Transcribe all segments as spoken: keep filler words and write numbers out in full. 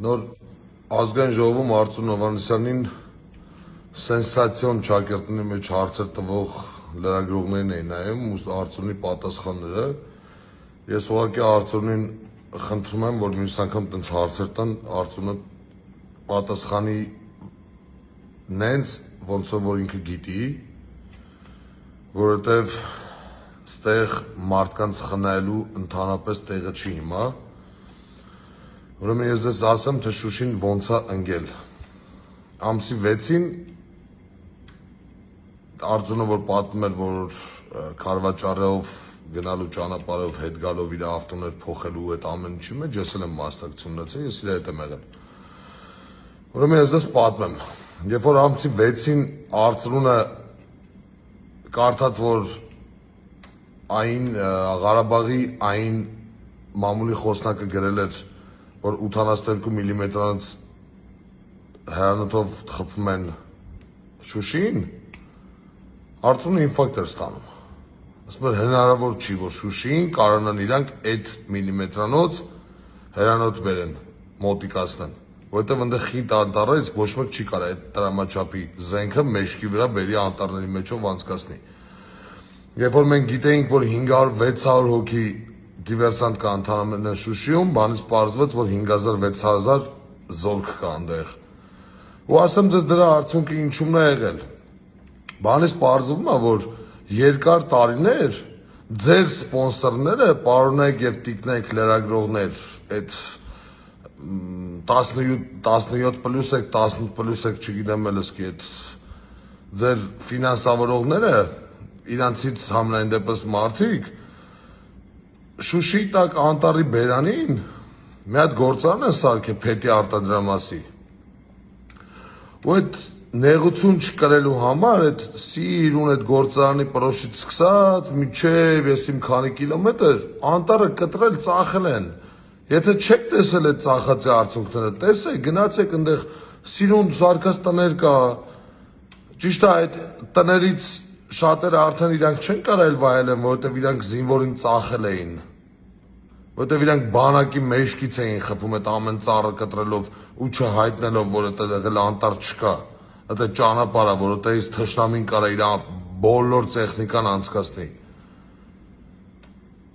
Նոր ազգային ժողովում Արծրուն Հովհաննիսյանին սենսացիոն ճակերտների մեջ հարցեր տվող լրագրողներին էին նայում ու Արծրունի պատասխանները։ Ես ուղղակի Արծրունին խնդրում եմ, որ մյուս անգամ տենց հարցեր տան, Արծրունը պատասխանի նենց, ոնց որ ինքը գիտի, որովհետև ստեղ մարդկանց խնայելու ընդհանրապես տեղը չի հիմա։ Ուրեմն ես ձեզ ասեմ, թե Շուշին ոնց է ընկել։ Ամսի վեցին Արծրունը որ պատմում էր, որ քարվաճարով գնալու ճանապարհով հետ գալով իր ավտոներ փոխելու այդ ամեն ինչի մեջ ես էլ եմ մասնակցություն ունեցել, ես իր հետ եմ եղել։ Ուրեմն ես ձեզ պատմեմ, երբ որ ամսի վեցին Արծրունը կարդաց, որ այն Ղարաբաղի այն մամուլի խոսնակը գրել էր, որ ութանասունյոթ միլիմետրանոց հեռանոթով խփում են Շուշիին, Արծրունը ինֆարկտ էր ստանում։ Ասում էր հնարավոր չի, որ Շուշիին կարողանան իրանք այդ միլիմետրանոց հեռանոթ բերեն, մոտիկացնեն, որովհետև այնտեղ խիտ անտառ է, իսկ ոչ մեկ չի կարող այդ տրամաչափի զենքը մեջքի վրա բերի անտառների մեջով անցկացնի։ Երբ որ մենք գիտեինք, որ հինգ հարյուր վեց հարյուր հոգի դիվերսանտ կա ընդհանրապես Շուշիում, բանից պարզվեց, որ հինգ հազար վեց հազար զորք կա այնտեղ։ Ու ասեմ ձեզ դրա արդյունքը ինչումն է եղել։ Բանից պարզվում է, որ երկար տարիներ ձեր սպոնսորները, պարոնայք եւ տիկնայք լրագրողներ, այդ տասնյոթ պլյուս եք, տասնութ պլյուս եք, չգիտեմ էլ էսքի այդ ձեր ֆինանսավորողները, իրանցից համենայն դեպս մարդիկ Շուշիի տակ անտառի բերանին մի հատ գործարան են սարքել փետի արտադրամասի։ Ու այդ նեղություն չկրելու համար այդ սիրուն այդ գործարանի պրոշից սկսած մինչև ես իմ քանի կիլոմետր անտառը կտրել ծախել են։ Եթե չեք տեսել այդ ծախածի արդյունքները, տեսեք, գնացեք այնտեղ սիրուն զարգաց տներ կա։ Ճիշտ է, այդ տներից շատերը արդեն իրանք չեն կարել վայելեն, որովհետև իրանք զինվորին ծախել էին։ Որովհետև իրանք բանակի մեջքից էին խփում այդ ամեն ծառը կտրելով ու չհայտնելով, որ այդտեղ եղել անտառ չկա։ Այդ ճանապարհը, որովհետև թշնամին կարա իր բոլոր տեխնիկան անցկացնի։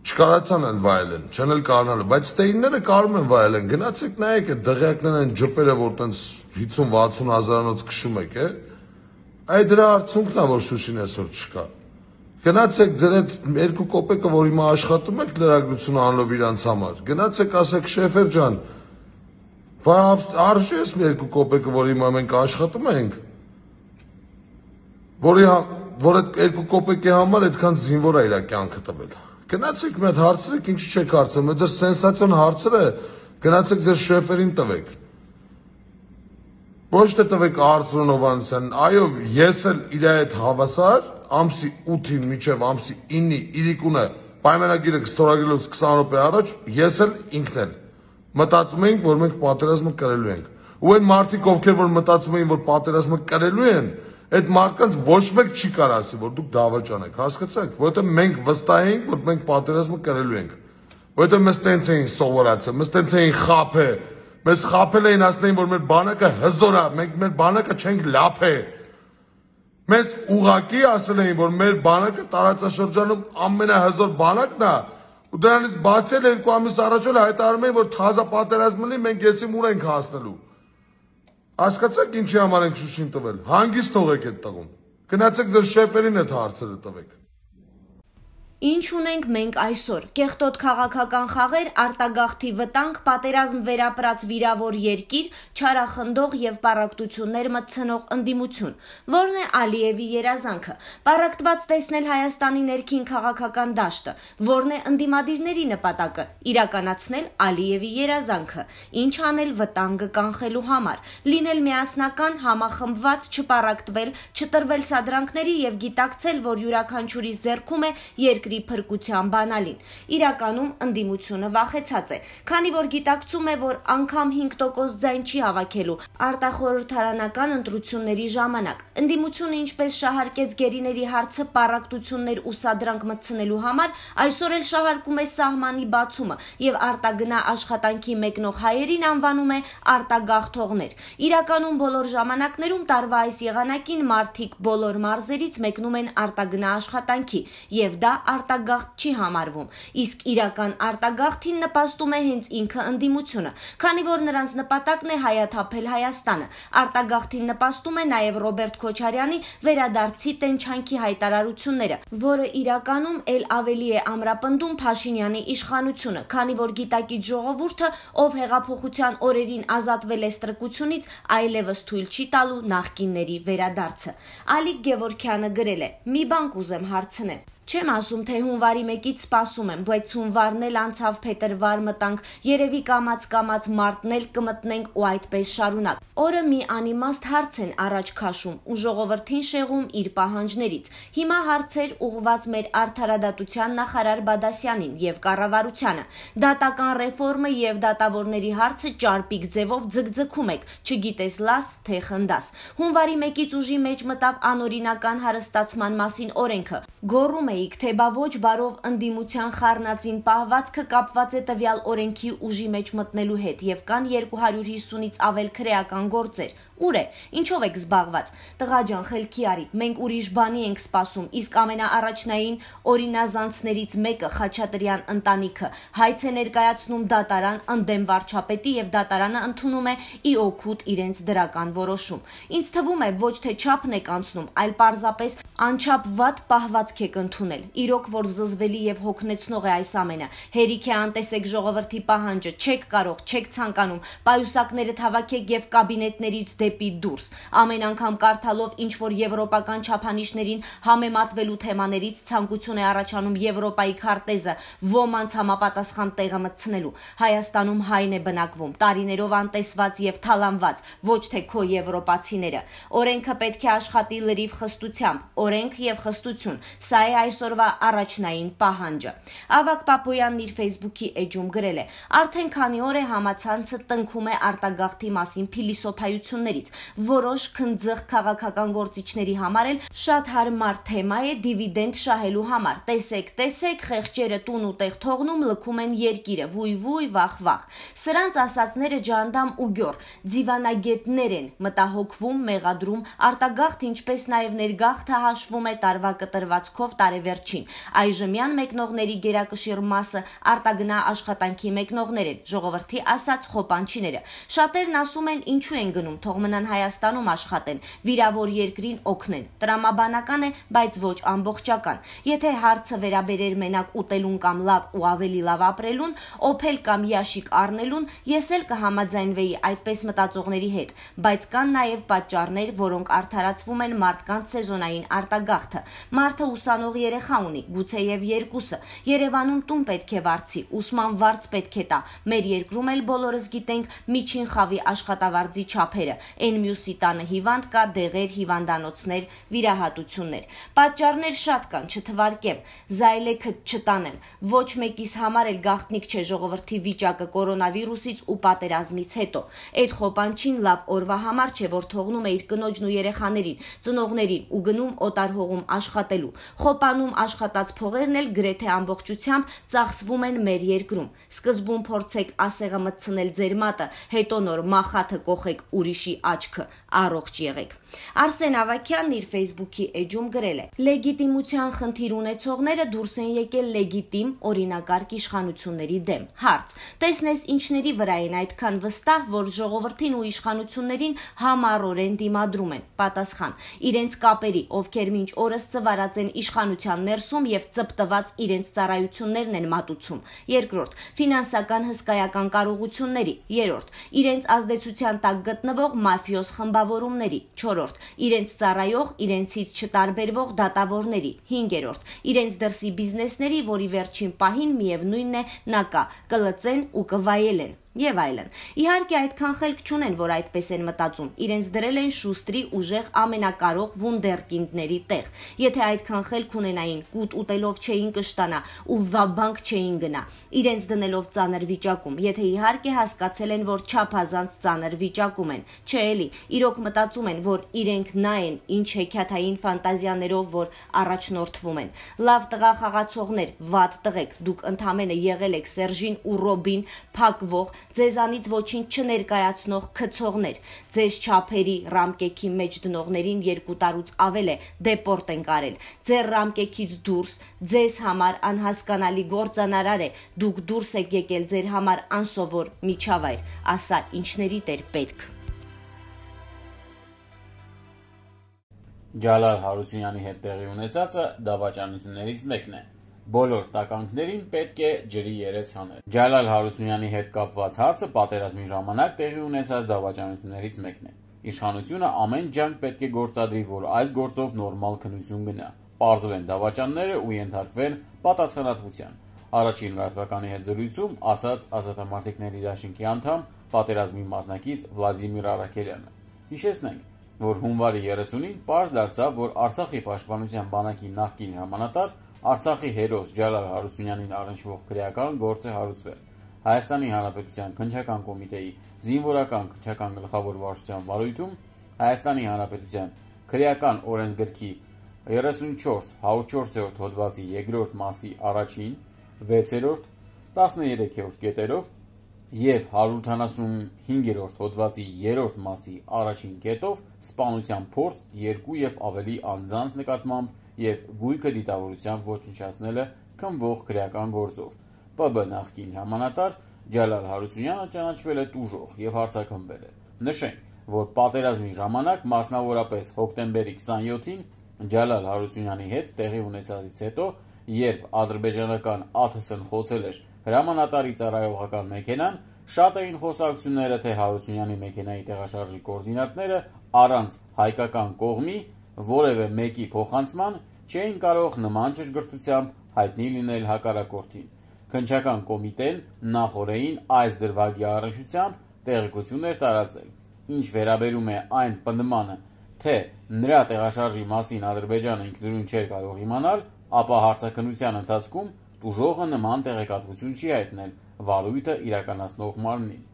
Չկարացան են վայելեն, չեն էլ կարողանալու, բայց ստեյնները կարող են վայելեն։ Գնացեք նայեք այդ դղյակներն են ջպերը, որ տենց հիսուն վաթսուն հազարանոց քշում եք, է։ Այդ դրա արդյունքն է, որ Շուշին այսօր չկա։ Գնացեք ձեր այդ երկու կոպեկը, որ հիմա աշխատում եք լրագրություն անելով իրանց համար, գնացեք ասեք շեֆեր ջան, արժի ես մի երկու կոպեկը, որ հիմա մենք աշխատում ենք, որի որ այդ երկու կոպեկի համար այդքան զինվոր է իր կյանքը տվել։ Գնացեք մի հատ հարցրեք, ինչ չեք հարցնում, այդ ձեր սենսացիոն հարցերը գնացեք ձեր շեֆերին տվեք։ Ոչ թե տվեք Արծրուն Հովհաննիսյանին, այո, ես էլ իր հետ հավասար ամսի ութին մինչև ամսի ինը իրիկունը պայմանագիրը ստորագրելուց քսան րոպե առաջ ես էլ ինքն էլ մտածում էինք, որ մենք պատերազմը կրելու ենք։ Ու այն մարդիկ, ովքեր որ մտածում էին, որ պատերազմը կրելու են, այդ մարդկանց ոչ մեկ չի կարող ասի, որ դուք դավաճան եք, հասկացաք, որովհետև մենք վստահ ենք, որ մենք պատերազմը կրելու ենք։ Որովհետև մեզ տենց էին սովորացել, մեզ տենց էին խաբել, մեզ խաբել էին ասնեին, որ մեր բանակը հզոր է, մենք մեր բանակը չենք լափել։ Մեզ ուղղակի ասել էին, որ մեր բանակը տարածաշրջանում ամենահզոր բանակն է, ու դրանից բացի էլ երկու ամիս առաջ էլ հայտարարում էին, որ թազա պատերազմ լինի, մենք եսի ուր ենք հասնելու։ Հասկացաք ինչի համար ենք Շուշին տվել։ Հանգիստ թողեք այդ տղուն։ Գնացեք ձեր շեֆերին այդ հարցերը տվեք։ Ինչ ունենք մենք այսօր, կեղտոտ քաղաքական խաղեր, արտագաղթի վտանգ, պատերազմ վերապրած վիրավոր երկիր, չարախնդող եւ պառակտություններ մտցնող ընդդիմություն, որն է Ալիևի երազանքը, պառակտված տեսնել Հայաստանի ներքին քաղաքական դաշտը, որն է ընդդիմադիրների նպատակը, իրականացնել Ալիևի երազանքը, ինչ անել վտանգը կանխելու համար, լինել միասնական, համախմբված, չպառակտվել, չտրվել սադրանքների եւ գիտակցել, որ յուրաքանչյուրիս ձեռքում է երկրի փրկության բանալին։ Իրականում ընդդիմությունը վախեցած է, քանի որ գիտակցում է, որ անգամ հինգ տոկոս ձայն չի հավաքելու արտախորհրդարանական ընտրությունների ժամանակ։ Ընդդիմությունը ինչպես շահարկեց գերիների հարցը պառակտություններ ու սադրանք մտցնելու համար, այսօր էլ շահարկում է սահմանի բացումը եւ արտագնա աշխատանքի մեկնող հայերին անվանում է արտագաղթողներ։ Իրականում բոլոր ժամանակներում տարվա այս եղանակին մարդիկ բոլոր մարզերից մեկնում են արտագնա աշխատանքի եւ դա արտագաղթ չի համարվում, իսկ իրական արտագաղթին նպաստում է հենց ինքը ընդդիմությունը, քանի որ նրանց նպատակն է հայաթափել Հայաստանը։ Արտագաղթին նպաստում է նաեւ Ռոբերտ Քոչարյանի վերադարձի տենչանքի հայտարարությունները, որը իրականում ել ավելի է ամրապնդում Փաշինյանի իշխանությունը, քանի որ գիտակից ժողովուրդը, ով հեղափոխության օրերին ազատվել է ստրկությունից, այլևս թույլ չի տալու նախկինների վերադարձը։ Ալիկ Գևորգյանը գրել է. «Մի բան կուզեմ հարցնեմ։ Չեմ ասում, թե հունվարի մեկից սպասում եմ, բայց հունվարն էլ անցավ, փետրվար մտանք, երևի կամաց-կամաց մարտն էլ կմտնենք ու այդպես շարունակ։ Օրը մի անիմաստ հարց են առաջ քաշում ու ժողովրդին շեղում իր պահանջներից։ Հիմա հարցեր ուղղված մեր արդարադատության նախարար Բադասյանին եւ կառավարությանը։ Դատական ռեֆորմը եւ դատավորների հարցը ճարպիկ ձևով ձգձգում եք, չգիտես լաս, թե խնդաս։ Հունվարի մեկից ուժի մեջ մտավ անօրինական հարստացման մասին օրենքը։ Գոռում էիք, թե բա ոչ բարով ընդդիմության խառնածին պահվածքը կապված է տվյալ օրենքի ուժի մեջ մտնելու հետ եւ կան երկու հարյուր հիսունից ավել քրեական գործեր։ Ուր է, ինչով եք զբաղված։ Տղա ջան, խելքի արի, մենք ուրիշ բանի ենք սպասում, իսկ ամենաառաջնային օրինազանցներից մեկը Խաչատրյան ընտանիքը հայց է ներկայացնում դատարան ընդդեմ վարչապետի եւ դատարանը ընդունում է ի օգուտ իրենց դրական որոշում։ Ինձ թվում է ոչ թե չափն եք անցնում, այլ պարզապես անչափ վատ պահվածք եք ընդունել։ Իրոք որ զզվելի եւ հոգնեցնող է այս ամենը։ Հերիք է անտեսեք ժողովրդի պահանջը, չեք կարող, չեք ցանկանում, պայուսակները հավաքեք եւ կաբինետներից դեպի դուրս։ Ամեն անգամ կարդալով ինչ որ եվրոպական չափանիշներին համեմատվելու թեմաներից ցանկություն է առաջանում Եվրոպայի քարտեզը ոմանց համապատասխան տեղը մտցնելու։ Հայաստանում հայն է բնակվում, տարիներով անտեսված եւ թալանված, ոչ թե քո եվրոպացիները։ Օրենքը պետք է աշխատի լրիվ խստությամբ, օրենք եւ խստություն։ Սա է այսօրվա առաջնային պահանջը։ Ավագ Պապոյանն իր Facebook-ի էջում գրել է. Արդեն քանի օր է համացանցը տնքում է արտագաղթի մասին փիլիսոփայություններից, որոշ քնձղ քաղաքական գործիչների համար էլ շատ հարմար թեմա է դիվիդենդ շահելու համար։ Տեսեք, տեսեք, խեղճերը տուն ու տեղ թողնում, լքում են երկիրը, վույ-վույ, վախ-վախ։ Սրանց ասածները ջանդամ ու գյոր, ձիվանագետներ են, մտահոգվում, մեղադրում, արտագաղթ, ինչպես նաև ներգաղթը հաշվում է տարվա կտրվածքով տարեվերջին։ Այժմյան մեկնողների գերակշիռ մասը արտագնա աշխատանքի մեկնողներ են, ժողովրդի ասած խոպանչիները։ Շատերն ասում են, ինչու են գնում, թող մնան Հայաստանում աշխատեն, վիրավոր երկրին օգնեն։ Տրամաբանական է, բայց ոչ ամբողջական։ Եթե հարցը վերաբերեր մենակ ուտելուն կամ լավ ու ավելի լավ ապրելուն, օփել կամ յաշիկ առնելուն, ես էլ կհամաձայնվեի այդպես մտածողների հետ, բայց կան նաև պատճառներ, որոնք արդարացվում են մարդկանց սեզոնային արտագաղթը։ Մարդը ուսանող երեխա ունի, գուցեև երկուսը։ Երևանում տուն պետք է վարձի, ուսման վարձ պետք է տա։ Մեր երկրում էլ բոլորս գիտենք միջին խավի աշխատավարձի չափերը, այն մյուսի տանը հիվանդ կա, դեղեր, հիվանդանոցներ, վիրահատություններ։ Պատճառներ շատ կան, չթվարկեմ, զայլեքը չտանեմ։ Ոչ մեկիս համար էլ գաղտնիք չէ ժողովրդի վիճակը կորոնավիրուսից ու պատերազմից հետո։ Այդ խոպանչին լավ օրվա համար չէ, որ թողնում է իր կնոջն ու երեխաներին, ծնողներին ու գնում օտար հողում աշխատելու։ Խոպանում աշխատած փողերն էլ գրեթե ամբողջությամբ ծախսվում են մեր երկրում։ Սկզբում փորձեք ասեղը մտցնել ձեր մատը, հետո նոր մախաթը կոխեք ուրիշի աչքը, առողջ եղեք։ Արսեն Ավագյանն իր Facebook-ի էջում գրել է. Լեգիտիմության խնդիր ունեցողները դուրս են եկել լեգիտիմ օրինակարգ իշխանությունների դեմ։ Հարց. տեսնես ինչների վրա են այդքան վստահ, որ ժողովրդին ու իշխանություններին համառորեն դիմադրում են։ Պատասխան. իրենց կապերի, ովքեր մինչ օրս ծվարած են իշխանության ներսում եւ ծպտված իրենց ծառայություններն են մատուցում։ Երկրորդ, ֆինանսական հսկայական կարողությունների։ Երրորդ, իրենց ազդեցության տակ գտնվող մաֆիոզ խմբավորումների։ Չորրորդ, իրենց ծառայող, իրենցից չտարբերվող դատավորների։ Հինգերորդ, իրենց դրսի բիզնեսների, որի վերջին պահին միևնույնն է նա կա, կլծեն ու կվայելեն։ եւ այլն։ Իհարկե այդքան խելք չունեն, որ այդպես են մտածում։ Իրենց դրել են շուստրի ուժեղ ամենակարող վունդերկինդների տեղ։ Եթե այդքան խելք ունենային, կուտ ուտելով չէին կշտանա ու վաբանք չէին գնա, իրենց դնելով ծանր վիճակում։ Եթե իհարկե հասկացել են, որ չափազանց ծանր վիճակում են։ Չէ էլի, իրոք մտածում են, որ իրենք նա են, ինչ հեքիաթային ֆանտազիաներով որ առաջնորդվում են։ Լավ տղա խաղացողներ, վատ տղեկ, դուք ընդամենը եղել եք Սերժին ու Ռոբին փակվող, ձեզանից ոչինչ չներկայացնող քցողներ, ձեզ չափերի ռամկեքի մեջ դնողներին երկու տարուց ավել է դեպորտ են կարել, ձեր ռամկեքից դուրս, ձեզ համար անհասկանալի գործանարար է, դուք դուրս եք եկել ձեր համար անսովոր միջավայր, ասա ինչներիդ էր պետք։ Ջալալ Հարությունյանի հետ տեղի ունեցածը դավաճանություններից մեկն է։ Բոլոր տականքներին պետք է ջրի երես հանել։ Ջալալ Հարությունյանի հետ կապված հարցը պատերազմի ժամանակ տեղի ունեցած դավաճանություններից մեկն է։ Իշխանությունը ամեն ջանք պետք է գործադրի, որ այս գործով նորմալ քննություն գնա, պարզվեն դավաճանները ու ենթարկվեն պատասխանատվության։ Առաջին լրատվականի հետ զրույցում ասաց Ազատամարտիկների դաշինքի անդամ, պատերազմի մասնակից Վլադիմիր Արաքելյանը։ Հիշեցնենք, որ հունվարի երեսունին պարզ դարձավ, որ Արցախի պաշտպանության բանակի նախկին հրամանատար Արցախի հերոս Ջալալ Հարությունյանին առնչվող քրեական գործ է հարուցվել։ Հայաստանի Հանրապետության քննչական կոմիտեի զինվորական քննչական գլխավոր վարչության վարույթում Հայաստանի Հանրապետության քրեական օրենսգրքի երեսունչորս հարյուր չորսերորդ հոդվածի երկրորդ մասի առաջին, վեցերորդ, տասներեքերորդ կետերով և հարյուր ութանասունհինգերորդ հոդվածի երրորդ մասի առաջին կետով սպանության փորձ երկու և ավելի անձանց նկատմամբ և գույքը դիտավորությամբ ոչնչացնելը քննվող քրեական գործով։ Պ B նախկին հրամանատար Ջալալ Հարությունյանը ճանաչվել է տուժող և հարձակվվել է։ Նշենք, որ պատերազմի ժամանակ մասնավորապես հոկտեմբերի քսանյոթին Ջալալ Հարությունյանի հետ տեղի ունեցածից հետո, երբ ադրբեջանական A T S-ն խոցել էր հրամանատարի ծառայողական մեքենան, շատ էին խոսակցությունները, թե Հարությունյանի մեքենայի տեղաշարժի կոորդինատները առանց հայկական կողմի որևէ մեկի փոխանցման չէին կարող նման ճշգրտությամբ հայտնի լինել հակառակորդին։ Քննչական կոմիտեն նախօրեին այս դրվագի առնչությամբ տեղեկություն էր տարածել։ Ինչ վերաբերում է այն պնդմանը, թե նրա տեղաշարժի մասին Ադրբեջանը ինքնուրույն չէր կարող իմանալ, ապա հարցաքննության ընթացքում տուժողը նման տեղեկատվություն չի հայտնել վարույթը իրականացնող մարմնին։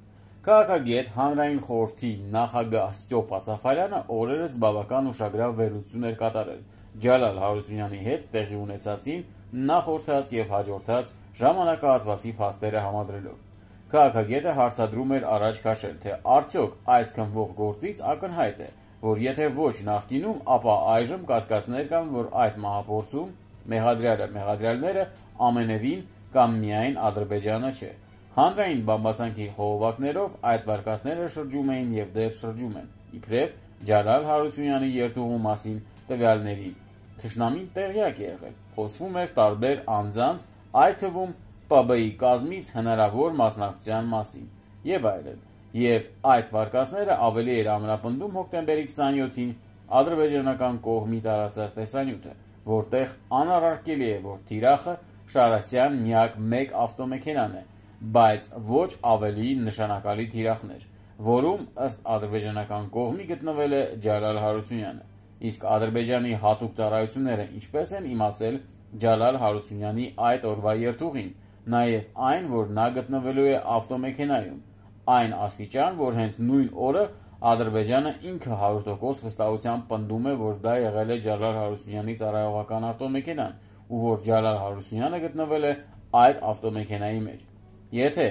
Քաղաքագետ Հանրային խորհրդի նախագահ Ստյոպա Սաֆարյանը օրերս բավական ուշագրավ վերլուծություն էր կատարել Ջալալ Հարությունյանի հետ տեղի ունեցածին նախորդած և հաջորդած ժամանակահատվածի փաստերը համադրելով։ Քաղաքագետը հարցադրում էր առաջ քաշել, թե արդյոք այս քննվող գործից ակնհայտ է, որ եթե ոչ նախկինում, ապա այժմ կասկածներ կան, որ այդ մահափորձում մեղադրյալը մեղադրյալները ամենևին կամ միայն Ադրբեջանը չէ։ Հանրային բամբասանքի խողովակներով այդ վարկածները շրջում էին և դեռ շրջում են, իբրև Ջալալ Հարությունյանի երթուղու մասին տվյալների։ Թշնամին տեղյակ է եղել, խոսվում էր տարբեր անձանց, այդ թվում Պ B-ի կազմից հնարավոր մասնակցության մասին և այլն, և այդ վարկածները ավելի էր ամրապնդում հոկտեմբերի քսանյոթին ադրբեջանական կողմի տարածած տեսանյութը, որտեղ անառարկելի է, որ թիրախը Շարասյան միակ մեկ ավտոմեքենան է, բայց ոչ ավելի նշանակալի թիրախներ, որում ըստ ադրբեջանական կողմի գտնվել է Ջալալ Հարությունյանը, իսկ Ադրբեջանի հատուկ ծառայությունները ինչպես են իմացել Ջալալ Հարությունյանի այդ օրվա երթուղին, նաև այն, որ նա գտնվելու է ավտոմեքենայում, այն աստիճան, որ հենց նույն օրը Ադրբեջանը ինքը հարյուր տոկոս վստահությամբ պնդում է, որ դա եղել է Ջալալ Հարությունյանի ծառայողական ավտոմեքենան ու որ Ջալալ Հարությունյանը գտնվել է այդ ավտոմեքենայի մեջ։ Եթե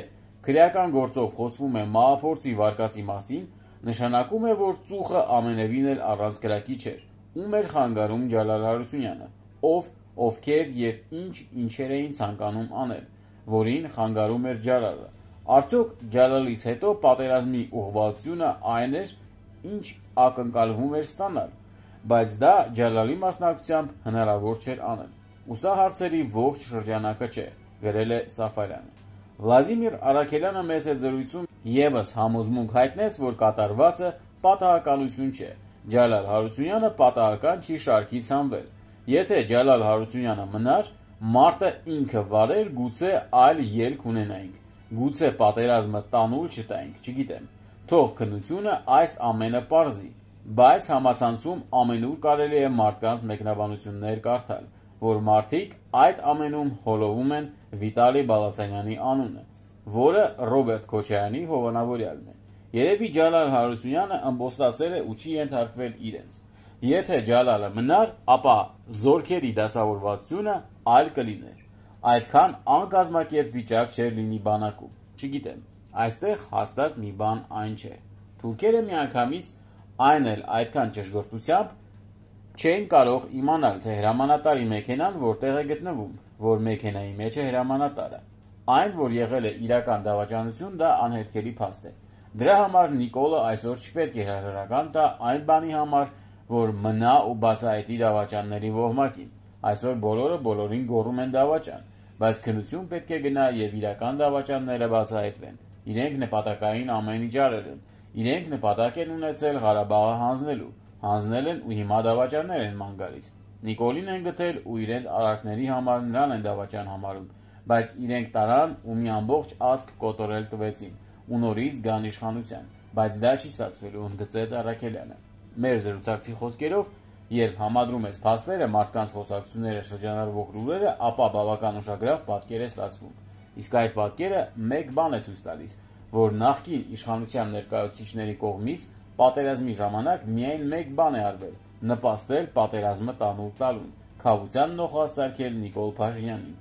քրեական գործով խոսվում է մահափորձի վարկածի մասին, նշանակում է, որ ծուխը ամենևին էլ առանց կրակի չէր։ Ում էր խանգարում Ջալալ Հարությունյանը, ով, ովքեր և ինչ ինչեր էին ցանկանում անել, որին խանգարում էր Ջալալը։ Արդյոք Ջալալից հետո պատերազմի ուղղվածությունը այն էր, ինչ ակնկալվում էր ստանալ, բայց դա Ջալալի մասնակցությամբ հնարավոր չէր անել։ Ու սա հարցերի ողջ շրջանակը չէ, գրել է Սաֆարյանը։ Վլադիմիր Արաքելյանը մեծ հետ զրույցում ևս համոզմունք հայտնեց, որ կատարվածը պատահականություն չէ։ Ջալալ Հարությունյանը պատահական չի շարքից հանվել։ Եթե Ջալալ Հարությունյանը մնար, մարտը ինքը վարեր, գուցե այլ ելք ունենայինք։ Գուցե պատերազմը տանուլ չտայինք, չգիտեմ։ Թող քննությունը այս ամենը պարզի, բայց համացանցում ամենուր կարելի է մարդկանց մեկնաբանություններ կարդալ, որ մարդիկ այդ ամենում հոլովում են Վիտալի Բալասանյանի անունը, որը Ռոբերտ Քոչարյանի հովանավորյալն է։ Երևի Ջալալ Հարությունյանը ըմբոստացել է ու չի ենթարկվել իրենց։ Եթե Ջալալը մնար, ապա զորքերի դասավորվածությունը այլ կլիներ։ Այդքան անկազմակերպ վիճակ չէր լինի բանակում։ Չգիտեմ, այստեղ հաստատ մի բան այն չէ։ Թուրքերը միանգամից այն էլ այդքան ճշգրտությամբ չէին կարող իմանալ, թե հրամանատարի մեքենան որտեղ է գտնվում, որ մեքենայի մեջ է հրամանատարը։ Այն, որ եղել է իրական դավաճանություն, դա անհերքելի փաստ է։ Դրա համար Նիկոլը այսօր չպետք է հրաժարական տա այն բանի համար, որ մնա ու բացահայտի դավաճանների ոհմակին։ Այսօր բոլորը բոլորին գոռում են դավաճան, բայց քննություն պետք է գնա եւ իրական դավաճանները բացահայտվեն։ Իրենք նպատակային ամեն ինչ արել են։ Իրենք նպատակ են ունեցել Ղարաբաղը հանձնելու, հանձնել են ու հիմա դավաճաններ են ման գալիս։ Նիկոլին են գտել ու իրենց արարքների համար նրան են դավաճան համարում, բայց իրենք տարան ու մի ամբողջ ազգ կոտորել տվեցին ու նորից գան իշխանության, բայց դա չի ստացվելու, ընդգծեց Առաքելյանը։ Մեր զրուցակցի խոսքերով, երբ համադրում ես փաստերը, մարդկանց խոսակցությունները, շրջանառվող լուրերը, ապա բավական ուշագրավ պատկեր է ստացվում։ Իսկ այդ պատկերը մեկ բան է ցույց տալիս, որ նախկին իշխանության ներկայացուցիչների կողմից պատերազմի ժամանակ միայն մեկ բան է արվել՝ նպաստել պատերազմը տանուլ տալուն, քավության նոխասարքել Նիկոլ Փաշինյանին,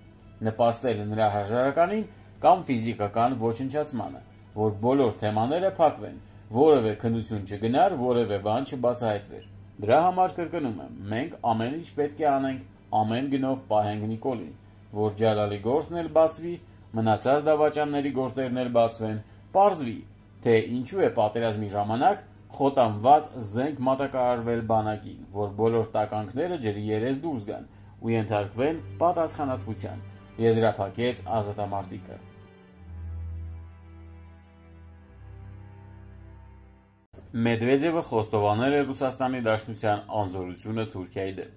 նպաստել նրա հրաժարականին կամ ֆիզիկական ոչնչացմանը, որ բոլոր թեմաները փակվեն, որևէ քննություն չգնար, որևէ բան չբացահայտվեր։ Դրա համար կրկնում եմ, մենք ամեն ինչ պետք է անենք, ամեն գնով պահենք Նիկոլին, որ Ջալալի գործն էլ բացվի, մնացած դավաճանների գործերն էլ բացվեն, պարզվի, թե ինչու է պատերազմի ժամանակ խոտանված զենք մատակարարվել բանակին, որ բոլոր տականքները ջրի երես դուրս գան ու ենթարկվեն պատասխանատվության, եզրափակեց ազատամարտիկը։ Մեդվեդևը խոստովանել է Ռուսաստանի Դաշնության անզորությունը Թուրքիայի դեմ։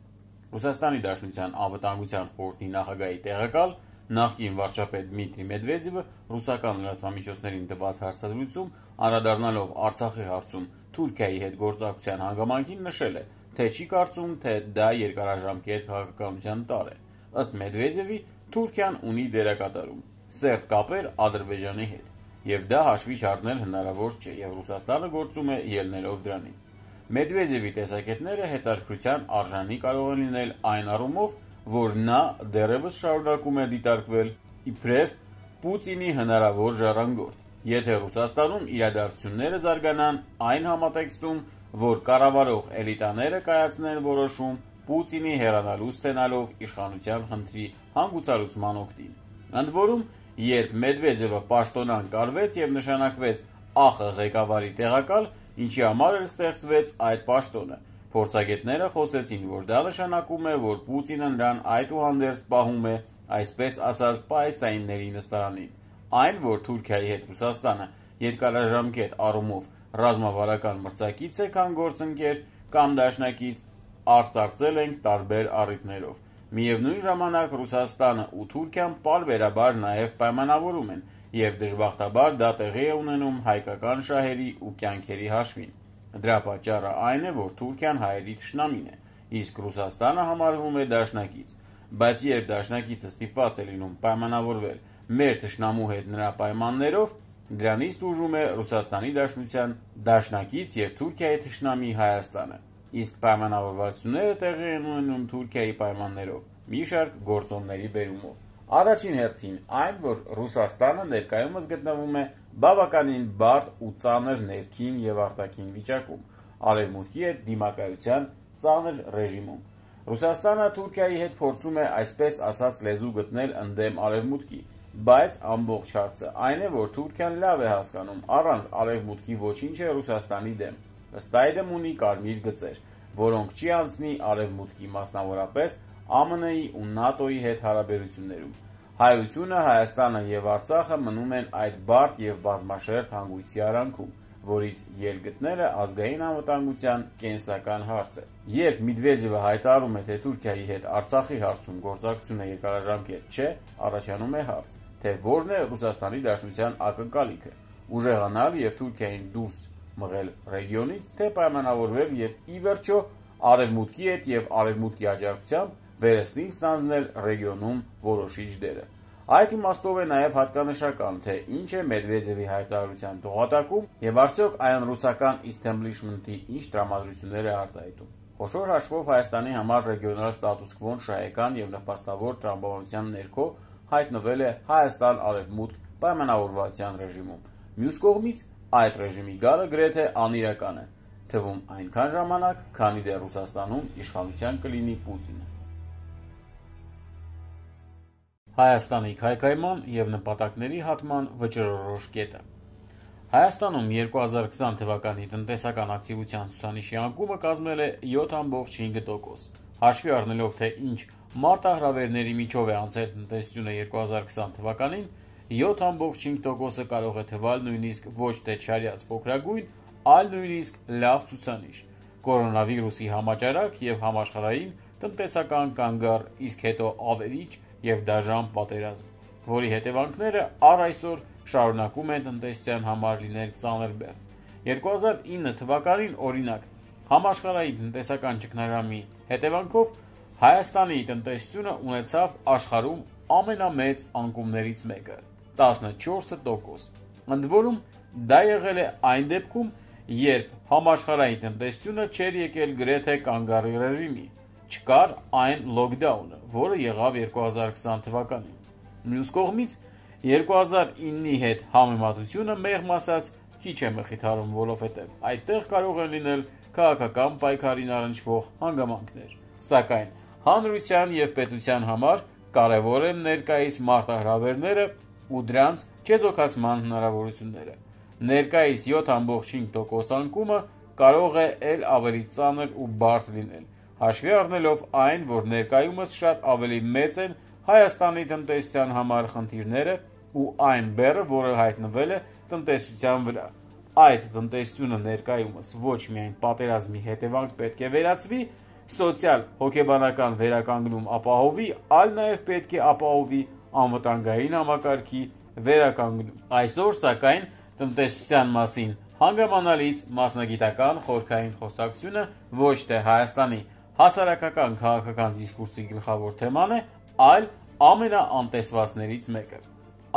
Ռուսաստանի Դաշնության անվտանգության խորհրդի նախագահի տեղակալ նախկին վարչապետ Դմիտրի Մեդվեդևը ռուսական լրատվամիջոցներին տված հարցազրույցում անդրադառնալով Արցախի հարցում Թուրքիայի հետ գործակցության հանգամանքին նշել է, թե չի կարծում, թե դա երկարաժամկետ քաղաքականության տար է։ Ըստ Մեդվեդևի, Թուրքիան ունի դերակատարում, սերտ կապեր Ադրբեջանի հետ, եւ դա հաշվի չառնել հնարավոր չէ, եւ Ռուսաստանը գործում է ելնելով դրանից։ Մեդվեդևի տեսակետները հետաքրքրության արժանի կարող են լինել այն առումով, որ նա դեռևս շարունակում է դիտարկվել իբրև Պուտինի հնարավոր ժառանգորդ, եթե Ռուսաստանում իրադարձությունները զարգանան այն համատեքստում, որ կառավարող էլիտաները կայացնեն որոշում Պուտինի հեռանալու սցենարով իշխանության խնդրի հանգուցալուծման օգտին։ Ընդ որում, երբ Մեդվեդևը պաշտոնան կարվեց եւ նշանակվեց ԱԽ ղեկավարի տեղակալ, ինչի համար էլ ստեղծվեց այդ պաշտոնը, փորձագետները խոսեցին, որ դա նշանակում է, որ Պուտինը նրան այդուհանդերձ պահում է, այսպես ասած, պահեստայինների նստարանին։ Այն, որ Թուրքիայի հետ Ռուսաստանը երկարաժամկետ առումով ռազմավարական մրցակից է, քան գործընկեր կամ դաշնակից, արծարծել ենք տարբեր առիթներով։ Միևնույն ժամանակ Ռուսաստանը ու Թուրքիան պարբերաբար նաև պայմանավորում են, եւ դժբախտաբար դա տեղի է ունենում հայկական շահերի ու կյանքերի հաշվին։ Դրա պատճառը այն է, որ Թուրքիան հայերի թշնամին է, իսկ Ռուսաստանը համարվում է դաշնակից։ Բայց երբ դաշնակիցը ստիպված է լինում պայմանավորվել մեր թշնամու հետ նրա պայմաններով, դրանից տուժում է Ռուսաստանի Դաշնության դաշնակից եւ Թուրքիայի թշնամի Հայաստանը։ Իսկ պայմանավորվածությունները տեղի են ունենում Թուրքիայի պայմաններով, մի շարք գործոնների բերումով։ Առաջին հերթին այն, որ Ռուսաստանը ներկայումս գտնվում է բավականին բարդ ու ծանր ներքին եւ արտաքին վիճակում, արևմուտքի հետ դիմակայության ծանր ռեժիմում։ Ռուսաստանը Թուրքիայի հետ փորձում է այսպես ասած լեզու գտնել ընդդեմ արևմուտքի, բայց ամբողջ հարցը այն է, որ Թուրքիան լավ է հասկանում, առանց արևմուտքի ոչինչ է Ռուսաստանի դեմ։ Ըստ այդմ ունի կարմիր գծեր, որոնք չի անցնի արևմուտքի, մասնավորապես ԱՄՆ-ի ու ՆԱՏՕ-ի հետ հարաբերություններում։ Հայությունը, Հայաստանը եւ Արցախը մնում են այդ բարդ եւ բազմաշերտ հանգույցի արանքում, որից ելք գտնելը ազգային անվտանգության կենսական հարց է։ Երբ Մեդվեդևը հայտարարում է, թե Թուրքիայի հետ Արցախի հարցում գործակցությունը երկարաժամկետ չէ, առաջանում է հարց, թե որն է Ռուսաստանի Դաշնության ակնկալիքը՝ ուժեղանալ եւ Թուրքիային դուրս մղել ռեգիոնից, թե պայմանավորվել եւ ի վերջո Արևմուտքի հետ եւ Արևմուտքի աջակցությամբ վերստին ստանձնել ռեգիոնում որոշիչ դերը։ Այդ իմաստով է նաև հատկանշական, թե ինչ է Մեդվեդևի հայտարարության տողատակում եւ արդյոք այն ռուսական establishment-ի ինչ տրամադրություններ է արտահայտում։ Խոշոր հաշվով Հայաստանի համար ռեգիոնալ ստատուս քվոն շահեկան եւ նպաստավոր տրամաբանության ներքո հայտնվել է Հայաստան-Արևմուտք պայմանավորվածության ռեժիմում։ Մյուս կողմից այդ ռեժիմի գալը գրեթե անիրական է, թվում այնքան ժամանակ, քանի դեռ Ռուսաստանում իշխանության կլինի Պուտինը։ Հայաստանի քայքայման եւ նպատակների հատման վճռորոշ կետը։ Հայաստանում երկու հազար քսան թվականի տնտեսական ակտիվության ցուցանիշի անկումը կազմել է յոթ ամբողջ հինգ տոկոս։ Հաշվի առնելով, թե ինչ մարտահրավերների միջով է անցել տնտեսությունը երկու հազար քսան թվականին, յոթ ամբողջ հինգ տոկոսը կարող է թվալ նույնիսկ ոչ թե չարյաց փոքրագույն, այլ նույնիսկ լավ ցուցանիշ։ Կորոնավիրուսի համաճարակ եւ համաշխարհային տնտեսական կանգառ, իսկ հետո ավերիչ եւ դաժան պատերազմ, որի հետևանքները առ այսօր շարունակում են տնտեսության համար լինել ծանր բեռ։ երկու հազար ինը թվականին, օրինակ, համաշխարհային տնտեսական ճգնաժամի հետևանքով Հայաստանի տնտեսությունը ունեցավ աշխարհում ամենամեծ անկումներից մեկը՝ տասնչորս տոկոս։ Ընդ որում, դա եղել է այն դեպքում, երբ համաշխարհային տնտեսությունը չէր եկել գրեթե կանգառի ռեժիմի, չկար այն լոքդաունը, որը եղավ երկու հազար քսան թվականին։ Մյուս կողմից, երկու հազար ինի հետ համեմատությունը մեղմ ասած քիչ է մխիթարում, որովհետև այդտեղ կարող են լինել քաղաքական պայքարին առնչվող հանգամանքներ։ Սակայն հանրության եւ պետության համար կարևոր են ներկայիս մարտահրավերները ու դրանց չեզոքացման հնարավորությունները։ Ներկայիս յոթ ամբողջ հինգ տոկոս անկումը կարող է ել ավելի ծանր ու բարդ լինել, հաշվի առնելով այն, որ ներկայումս շատ ավելի մեծ են Հայաստանի տնտեսության համար խնդիրները ու այն բեռը, որը հայտնվել է տնտեսության վրա։ Այդ տնտեսությունը ներկայումս ոչ միայն պատերազմի հետևանք պետք է վերացվի, սոցիալ-հոգեբանական վերականգնում ապահովի, այլ նաև պետք է ապահովի անվտանգային համակարգի վերականգնում։ Այսօր, սակայն, տնտեսության մասին հանգամանալից մասնագիտական խորհրդային խոսակցությունը ոչ թե Հայաստանի հասարակական քաղաքական դիսկուրսի գլխավոր թեման է, այլ ամենաանտեսվածներից մեկը։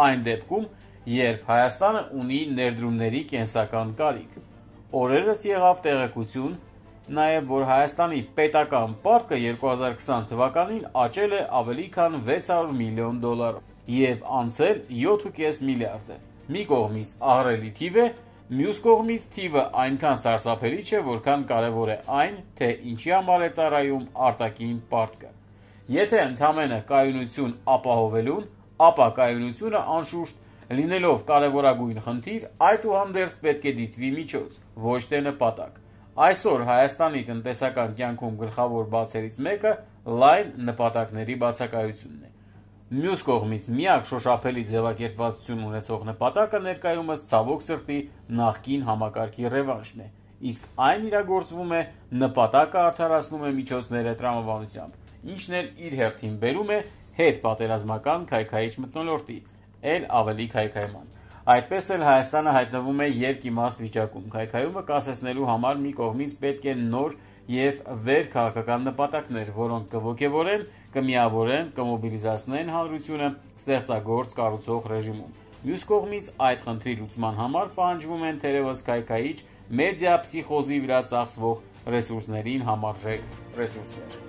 Այն դեպքում, երբ Հայաստանը ունի ներդրումների կենսական կարիք։ Օրերս եղավ տեղեկություն, նաև որ Հայաստանի պետական պարտքը երկու հազար քսան թվականին աճել է ավելի քան վեց հարյուր միլիոն դոլարով եւ անցել յոթ կես միլիարդ է։ Մի կողմից ահռելի թիվ է, մյուս կողմից թիվը այնքան սարսափելի չէ, որքան կարևոր է այն, թե ինչի համար է ծառայում արտաքին պարտքը։ Եթե ընդհանրապես կայունություն ապահովելուն, ապա կայունությունը անշուշտ լինելով կարևորագույն խնդիր, այդուհանդերձ պետք է դիտվի միջոց, ոչ թե նպատակ։ Այսօր Հայաստանի տնտեսական կյանքում գլխավոր բացերից մեկը լայն նպատակների բացակայությունն է։ Մյուս կողմից միակ շոշափելի ձևակերպվածություն ունեցող նպատակը ներկայումս ցավոք սրտի նախկին համակարգի ռևանշն է, իսկ այն իրագործվում է նպատակը արդարացնում է միջոցները տրամաբանությամբ, ինչն էլ իր հերթին բերում է հետ պատերազմական քայքայիչ մթնոլորտի, էլ ավելի քայքայման։ Այդպես էլ Հայաստանը հայտնվում է երկիմաստ վիճակում։ Քայքայումը կասեցնելու համար մի կողմից պետք է նոր եւ վեր քաղաքական նպատակներ, որոնք կողոքեվորեն, կմիավորեն, կմոբիլիզացնեն հանրությունը ստեղծագործ կառուցող ռեժիմում։ Մյուս կողմից այդ խնդրի լուծման համար պահանջվում են թերևս քայքայիչ մեդիա փսիխոզի վրա ծախսվող ռեսուրսներին համարժեք ռեսուրսներ։